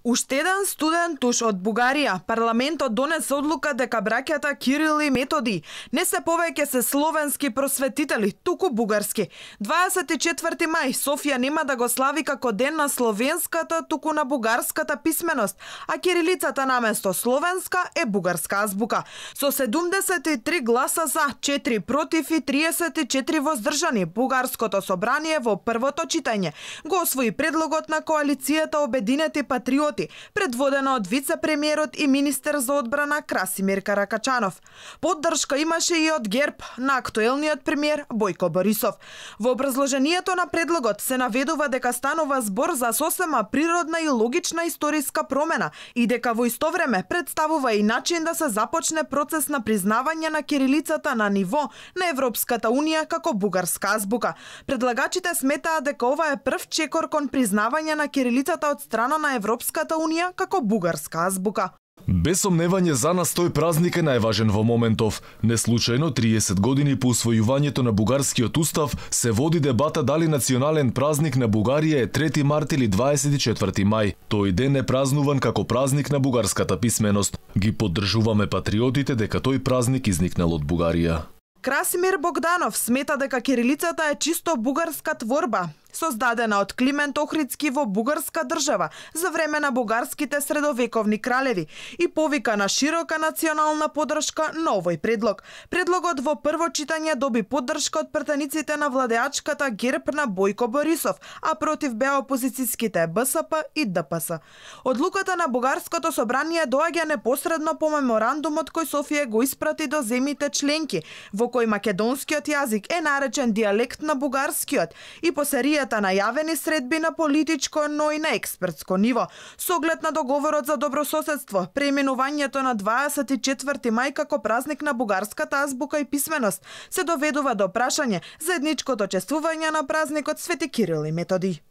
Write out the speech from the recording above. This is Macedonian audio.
Уште еден студен туш од Бугарија. Парламентот донесе одлука дека браќата Кирил и Методи не се повеќе се словенски просветители, туку бугарски. 24 мај Софија нема да го слави како ден на словенската, туку на бугарската писменост, а кирилицата наместо словенска е бугарска азбука. Со 73 гласа за, 4 против и 34 воздржани, бугарското собрание во првото читање го освои предлогот на коалицијата Обединети патриоти, предводена од вице-премиерот и министер за одбрана Красимир Каракачанов. Поддршка имаше и од ГЕРБ на актуелниот премиер Бојко Борисов. Во образложението на предлогот се наведува дека станува збор за сосема природна и логична историска промена и дека во исто време представува и начин да се започне процес на признавање на кирилицата на ниво на Европската унија како бугарска азбука. Предлагачите сметаат дека ова е прв чекор кон признавање на кирилицата од страна на Европската унија како бугарска азбука. Без сомневање за нас тој празник е најважен во моментов. Неслучајно 30 години по усвојувањето на бугарскиот устав се води дебата дали национален празник на Бугарија е 3 март или 24 мај. Тој ден е празнуван како празник на бугарската писменост. Ги поддржуваме патриотите дека тој празник изникнал од Бугарија. Красимир Богданов смета дека кирилицата е чисто бугарска творба, создадена од Климент Охридски во бугарска држава за време на бугарските средовековни кралеви и повика на широка национална поддршка на овој предлог. Предлогот во прво читање доби поддршка од пратениците на владеачката ГЕРБ на Бојко Борисов, а против беа опозицијските БСП и ДПС. Одлуката на бугарското собрание доаѓа непосредно по меморандумот кој Софија го испрати до земјите членки, во кој македонскиот јазик е наречен дијалект на бугарскиот и по серијата најавени средби на политичко, но и на експертско ниво. Со оглед на договорот за добрососедство, преименувањето на 24 мај како празник на бугарската азбука и писменост се доведува до прашање заедничкото чествување на празникот Свети Кирил и Методи.